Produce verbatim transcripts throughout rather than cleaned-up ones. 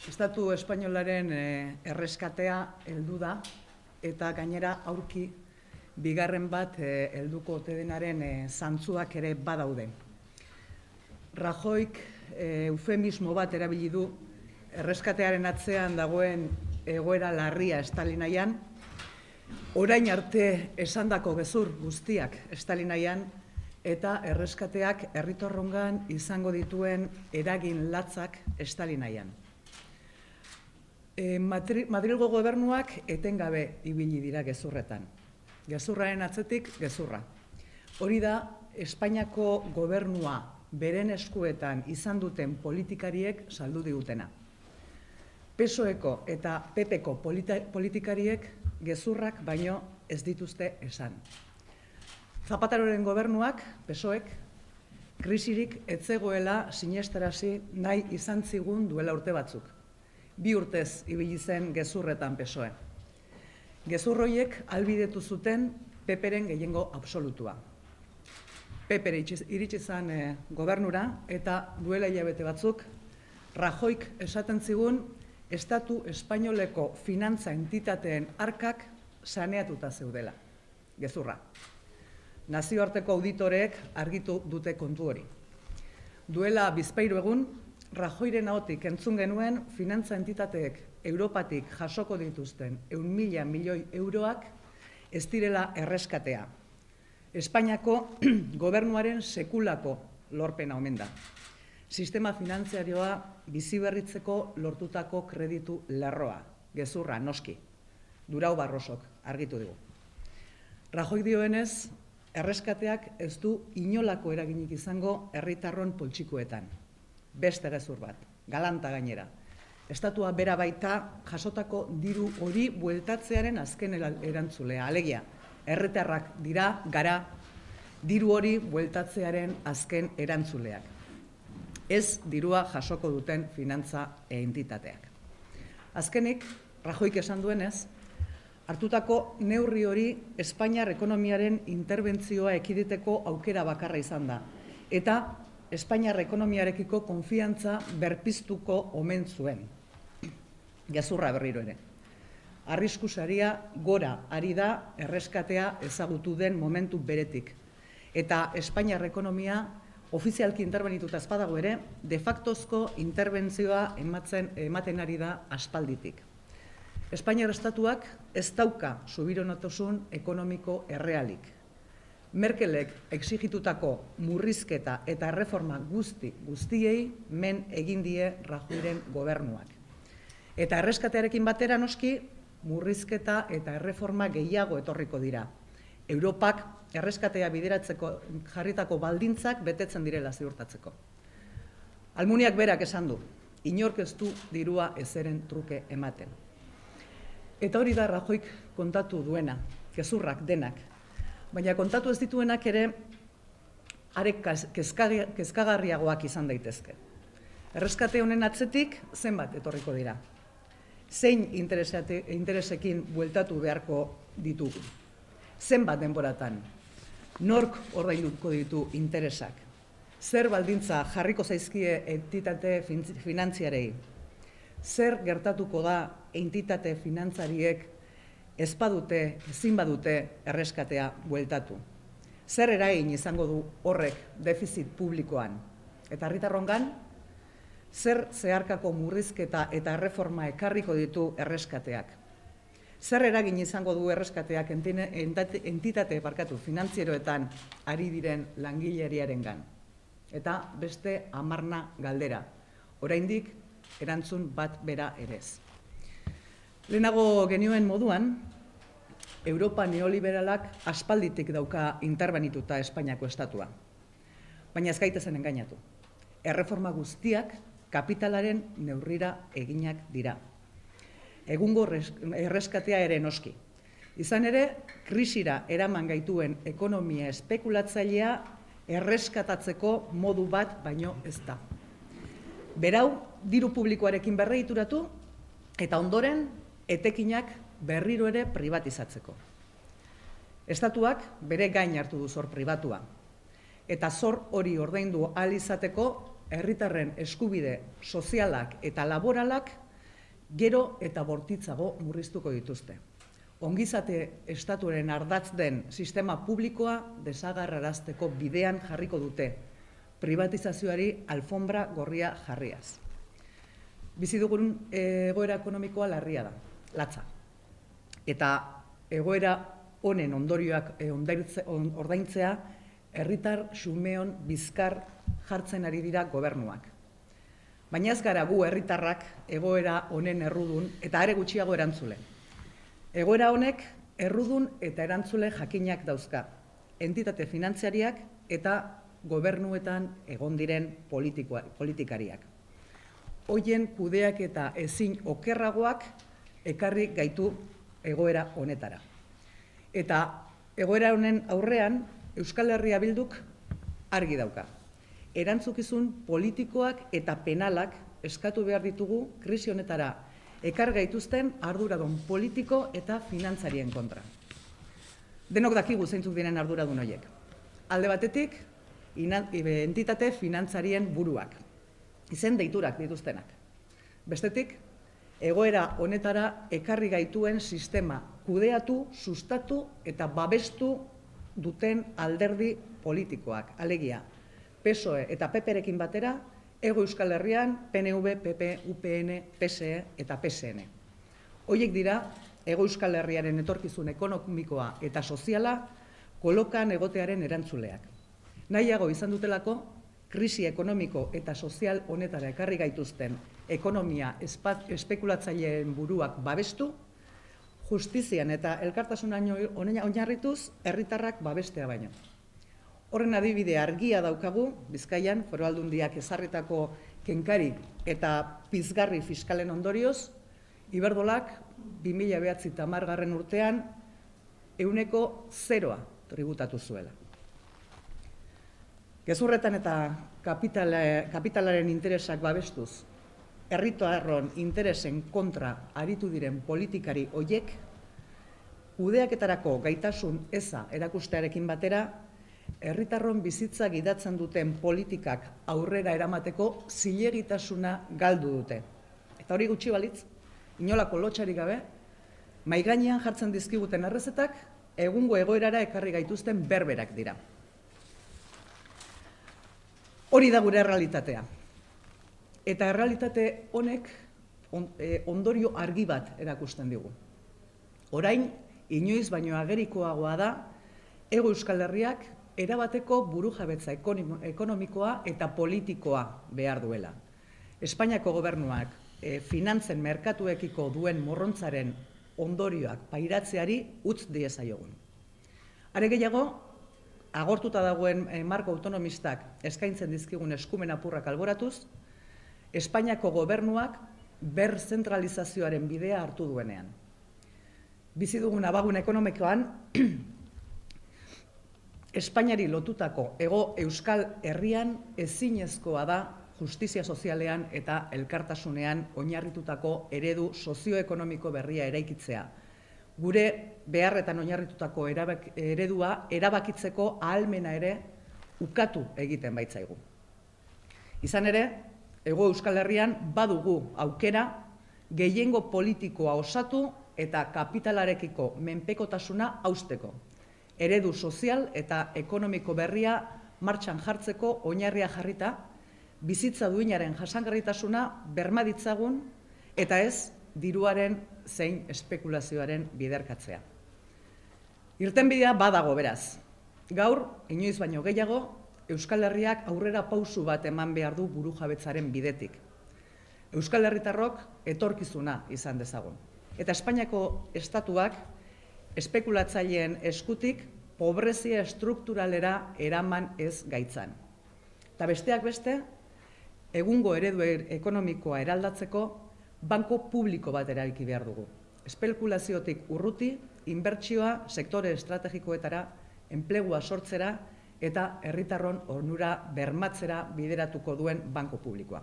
Estatu espainolaren erreskatea heldu da eta gainera aurki bigarren bat helduko ote denaren zantzuak ere badaude. Rajoyk eufemismo bat erabili du erreskatearen atzean dagoen egoera larria Stalinaian, orain arte esandako gezur guztiak Stalinaian eta erreskateak herritarrongan izango dituen eragin latzak Stalinaian. Madrilgo gobernuak etengabe ibili dira gezurretan. Gezurraren atzetik gezurra. Hori da Espainiako gobernua beren eskuetan izan duten politikariek saldu digutena. P S O Eko eta P Pko politikariek gezurrak baino ez dituzte esan. Zapateroren gobernuak, P S Oek, krisirik ez zegoela sinestarazi nahi izan zigun duela urte batzuk. Bi urtez ibili zen gezurretan P S O E. Gezur horiek ahalbidetu zuten P Pren gehiengo absolutua. P P iritsi zen gobernura eta duela hilabete batzuk Rajoyk esaten zigun Estatu espainoleko finantza entitateen arkak saneatuta zeudela. Gezurra. Nazioarteko auditoreek argitu dute kontu hori. Duela bizpahiru egun, Rajoyren ahotik entzun genuen finantza entitateek Europatik jasoko dituzten ehun mila milioi euroak ez direla erreskatea. Espainiako gobernuaren sekulako lorpena omen da. Sistema finanziarioa biziberritzeko lortutako kreditu lerroa, gezurra, noski. Durau Barrosok argitu digu. Rajoy dioenez, erreskateak ez du inolako eraginik izango herritarron poltsikuetan. Beste gezur bat, galanta gainera. Estatua bera baita jasotako diru hori bueltatzearen azken erantzulea. Alegia, herritarrak dira gara diru hori bueltatzearen azken erantzuleak. Ez dirua jasoko duten finantza entitateak. Azkenik, Rajoyk esan duenez, hartutako neurri hori Espainiar ekonomiaren interbentzioa ekiditeko aukera bakarra izan da. Eta Espainiar ekonomiarekiko konfiantza berpiztuko omen zuen. Gezurra berriro ere. Arrisku saria gora ari da erreskatea ezagutu den momentu beretik. Eta Espainiar ekonomia ofizialki interbenituta ez badago ere, de factozko interbentzioa ematen ari da aspalditik. Espainiar estatuak ez dauka subironotasun ekonomiko errealik. Merkelek exigitutako murrizketa eta erreforma guzti guztiei men egin die Rajoyren gobernuak. Eta erreskatearekin batera noski murrizketa eta erreforma gehiago etorriko dira. Europak erreskatea bideratzeko jarritako baldintzak betetzen direla ziurtatzeko. Almuniak berak esan du, inork ez du dirua ezeren truke ematen. Eta hori da Rajoyk kontatu duena, gezurrak denak. Baina kontatu ez dituenak ere are kezkagarriagoak izan daitezke. Erreskate honen atzetik zenbat etorriko dira. Zein interesekin bueltatu beharko ditugu. Zenbat denboratan. Nork ordainduko ditu interesak. Zer baldintza jarriko zaizkie entitate finantziarei. Zer gertatuko da entitate finantzariek ez badute, ezin badute erreskatea bueltatu. Zer eragin izango du horrek defizit publikoan? Eta herritarrongan, zer zeharkako murrizketa eta erreforma ekarriko ditu erreskateak? Zer eragin izango du erreskateak entitate barkatu finantzieroetan ari diren langileriarengan? Eta beste hamarna galdera. Oraindik erantzun bat bera erez. Lehenago genioen moduan, Europa neoliberalak aspalditik dauka interbenituta Espainiako estatua. Baina ez gaitezen engainatu. Erreforma guztiak kapitalaren neurrira eginak dira. Egungo erreskatea ere noski. Izan ere, krisira eraman gaituen ekonomia espekulatzailea erreskatatzeko modu bat baino ez da. Berau, diru publikoarekin berregituratu eta ondoren etekinak berriro ere privatizatzeko. Estatuak bere gain hartu du zor pribatua. Eta zor hori ordaindu ahal izateko herritarren eskubide sozialak eta laboralak gero eta bortitzago murriztuko dituzte. Ongizate estatuaren ardatz den sistema publikoa desagerrarazteko bidean jarriko dute, privatizazioari alfombra gorria jarriaz. Bizi dugun egoera ekonomikoa larria da, latza. Eta egoera honen ondorioak ordaintzea, herritar xumeon bizkar jartzen ari dira gobernuak. Baina ez gara gu herritarrak egoera honen errudun eta are gutxiago erantzule. Egoera honek errudun eta erantzule jakinak dauzka, entitate finantziariak eta gobernuetan egon diren politikariak. Hoien kudeak eta ezin okerragoak ekarri gaitu egoera honetara. Eta egoera honen aurrean Euskal Herria Bilduk argi dauka. Erantzukizun politikoak eta penalak eskatu behar ditugu krisi honetara ekar gaituzten arduradun politiko eta finantzarien kontra. Denok dakigu zeintzuk diren arduradun horiek. Alde batetik, entitate finantzarien buruak, izen deiturak dituztenak. Bestetik, egoera honetara ekarri gaituen sistema kudeatu, sustatu eta babestu duten alderdi politikoak, alegia, P S O E eta P P-rekin batera, Hego Euskal Herrian, P N V, P P, U P N, P S E eta P S N. Horiek dira, Hego Euskal Herriaren etorkizun ekonomikoa eta soziala kolokan egotearen erantzuleak. Nahiago izan dutelako, krisi ekonomiko eta sozial honetara ekarri gaituzten ekonomia espekulatzaileen buruak babestu, justizian eta elkartasunan oinarrituz herritarrak babestea baino. Horren adibide argia daukagu, Bizkaian, Foru Aldundiak ezarritako kenkari eta pizgarri fiskalen ondorioz, Iberdrolak bi mila bederatzi eta hamargarren urtean ehuneko zeroa tributatu zuela. Gezurretan eta kapitalaren interesak babestuz, herritarron interesen kontra aritu diren politikari hoiek, kudeaketarako gaitasun eza erakustearekin batera, herritarron bizitza gidatzen duten politikak aurrera eramateko zilegitasuna galdu dute. Eta hori gutxi balitz, inolako lotxarik gabe, mahai gainean jartzen dizkiguten errezetak, egungo egoerara ekarri gaituzten berberak dira. Hori da gure errealitatea. Eta errealitate honek ondorio argi bat erakusten digu. Orain, inoiz baino agerikoagoa da, Hego Euskal Herriak erabateko burujabetza ekonomikoa eta politikoa behar duela. Espainiako gobernuak finantzen merkatuekiko duen morrontzaren ondorioak pairatzeari utz diezaiogun. Are gehiago, agortuta dagoen marko autonomistak eskaintzen dizkigun eskumen apurrak alboratuz, Espainiako gobernuak berzentralizazioaren bidea hartu duenean. Bizi dugun abagun ekonomikoan, Espainiari lotutako Hego Euskal Herrian ezinezkoa da justizia sozialean eta elkartasunean oinarritutako eredu sozioekonomiko berria eraikitzea. Gure beharretan oinarritutako eredua erabakitzeko ahalmena ere ukatu egiten baitzaigu. Izan ere, Hego Euskal Herrian badugu aukera gehiengo politikoa osatu eta kapitalarekiko menpekotasuna hausteko. Eredu sozial eta ekonomiko berria martxan jartzeko oinarria jarrita, bizitza duinaren jasangarritasuna berma ditzagun eta ez diruaren zein espekulazioaren biderkatzea. Irtenbidea badago beraz. Gaur, inoiz baino gehiago, Euskal Herriak aurrera pausu bat eman behar du burujabetzaren bidetik. Euskal Herritarrok etorkizuna izan dezagun. Eta Espainiako estatuak espekulatzaileen eskutik pobrezia estrukturalera eraman ez gaitzan. Eta besteak beste, egungo eredu ekonomikoa eraldatzeko banko publiko bat eraiki behar dugu. Espekulaziotik urruti, inbertsioa sektore estrategikoetara, enplegua sortzera eta herritarron onura bermatzera bideratuko duen banko publikoa.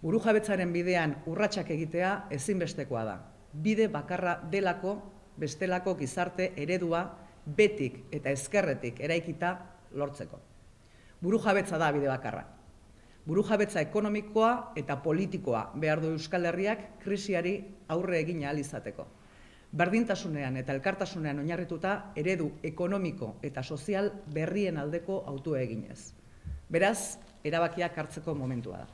Burujabetzaren bidean urratsak egitea ezinbestekoa da. Bide bakarra delako bestelako gizarte eredua betik eta ezkerretik eraikita lortzeko. Burujabetza da bide bakarra. Burujabetza ekonomikoa eta politikoa behar du Euskal Herriak krisiari aurre egin ahal izateko. Berdintasunean eta elkartasunean oinarrituta eredu ekonomiko eta sozial berrien aldeko hautua eginez. Beraz, erabakiak hartzeko momentua da.